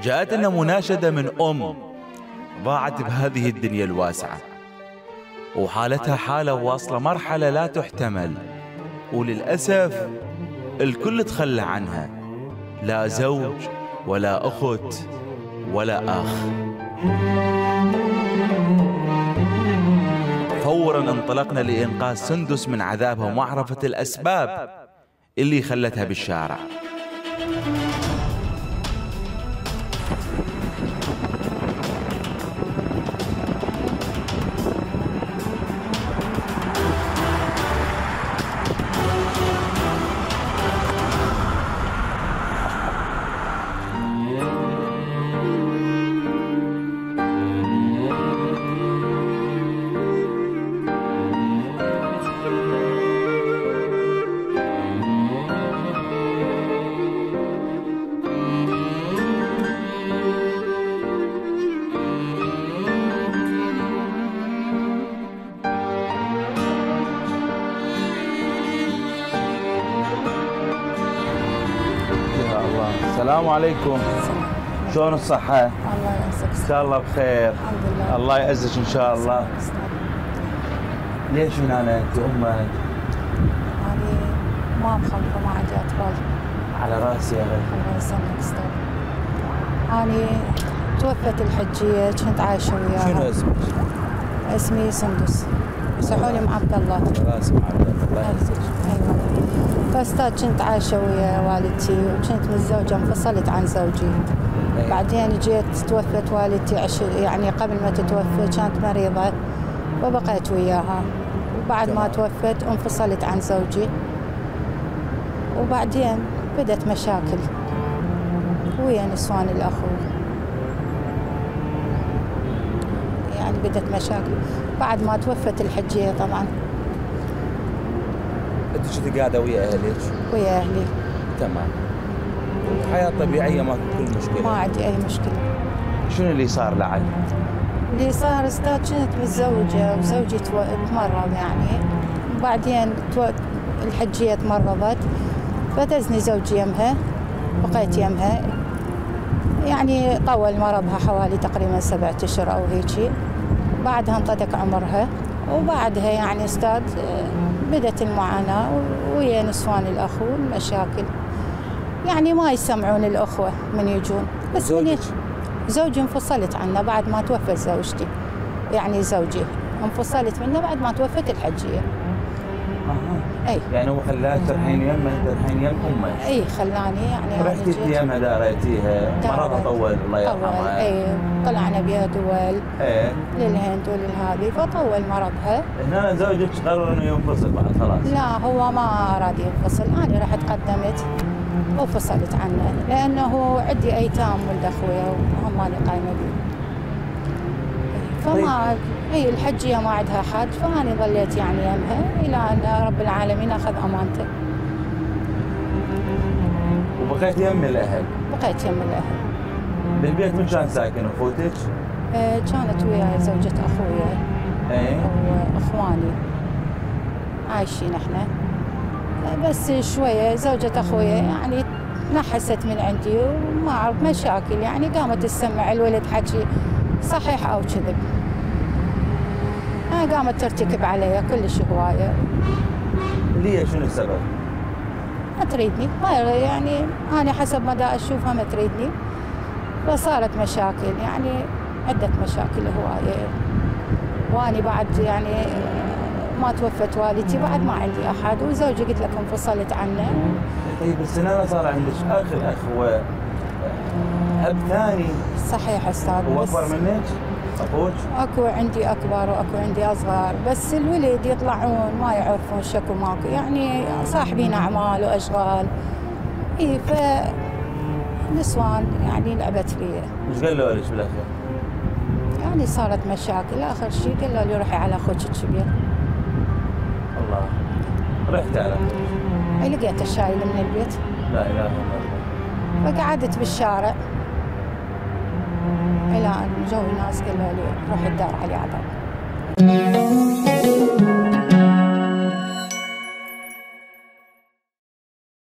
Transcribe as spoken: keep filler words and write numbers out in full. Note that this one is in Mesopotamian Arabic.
جاءتنا مناشدة من أم ضاعت بهذه الدنيا الواسعة، وحالتها حالة واصلة مرحلة لا تحتمل، وللأسف الكل تخلى عنها، لا زوج ولا أخت ولا أخ. فورا انطلقنا لإنقاذ سندس من عذابها ومعرفة الأسباب اللي خلتها بالشارع. السلام عليكم. شلون الصحة؟ الله يعزك. إن شاء الله بخير. الحمد لله. الله يعزك إن شاء الله. ليش من أنا أنت أمك؟ يعني ما مخلفة ما عندي أطفال. على راسي يا غالي. الله يسلمك أستاذ. أنا توفت الحجية كنت عايشة وياها. شنو اسمك؟ اسمي سندس. يصحوني مع عبد الله. على راسي مع عبد الله. الله يعزك. أيوة. فاستاذ كنت عايشة ويا والدتي وكنت متزوجة انفصلت عن زوجي. أيه. بعدين جيت توفت والدتي عش... يعني قبل ما تتوفى كانت مريضة وبقيت وياها، وبعد ما توفت انفصلت عن زوجي، وبعدين بدت مشاكل ويا نسوان الأخو، يعني بدت مشاكل بعد ما توفت الحجية طبعا. انت كنت قاعده ويا اهلك؟ ويا اهلي. تمام. حياه طبيعيه ما كل مشكله؟ ما عندي اي مشكله. شنو اللي صار لعل؟ اللي صار استاذ كنت متزوجه وزوجي تمرض يعني، وبعدين الحجيه تمرضت فدزني زوجي يمها، بقيت يمها يعني طول مرضها حوالي تقريبا سبعة اشهر او هيجي، بعدها انطدق عمرها، وبعدها يعني استاذ بدت المعاناة ويا نسوان الأخو المشاكل، يعني ما يسمعون الأخوة من يجون. بس زوجك؟ زوجي انفصلت عنه بعد ما توفت زوجتي، يعني زوجي انفصلت منه بعد ما توفت الحجية. اها. اي يعني هو خلاك ترحين يمه ترحين يم امك؟ اي خلاني يعني. رحتي يمها داريتيها، مرضها طول الله يرحمها. اي طلعنا بها دول. ايه للهند وللهذه فطول مرضها. هنا زوجك قرر انه ينفصل بعد خلاص؟ لا هو ما اراد ينفصل، انا رحت قدمت وفصلت عنه لانه عندي ايتام ولد اخويا وهم ماني قايمه بيه. فما هي الحجيه ما عندها حد، فاني ظليت يعني يمها الى ان رب العالمين اخذ امانته. وبقيت يم الاهل؟ بقيت يم الاهل. بالبيت من كان ساكن اخوتك؟ آه كانت وياي زوجة اخويا. ايه واخواني عايشين احنا، بس شويه زوجة اخويا يعني نحست من عندي وما اعرف مشاكل، يعني قامت تسمع الولد حكي صحيح او كذب، قامت ترتكب علي كلش هوايه. ليه شنو السبب؟ ما تريدني، ما يعني انا حسب ما دا اشوفها ما تريدني، فصارت مشاكل يعني عده مشاكل هوايه، واني بعد يعني ما توفت والدتي بعد ما عندي احد، وزوجي قلت لك انفصلت عنه. طيب بس انا صار عندك اخ، الاخ هو اب ثاني. صحيح استاذ. هو اكبر منك؟ اخوك؟ اكو عندي اكبر واكو عندي اصغر، بس الولد يطلعون ما يعرفون شكو ماكو، يعني صاحبين اعمال واشغال. اي ف نسوان يعني لعبت فيا. ايش قالوا لك بالاخير؟ يعني صارت مشاكل، اخر شيء قالوا لي روحي على اخوك الكبير. الله. رحت على اخوك؟ اي لقيته شايل من البيت. لا اله الا الله. فقعدت بالشارع الى ان جو ناس قالوا لي روحي الدار علي عذاب.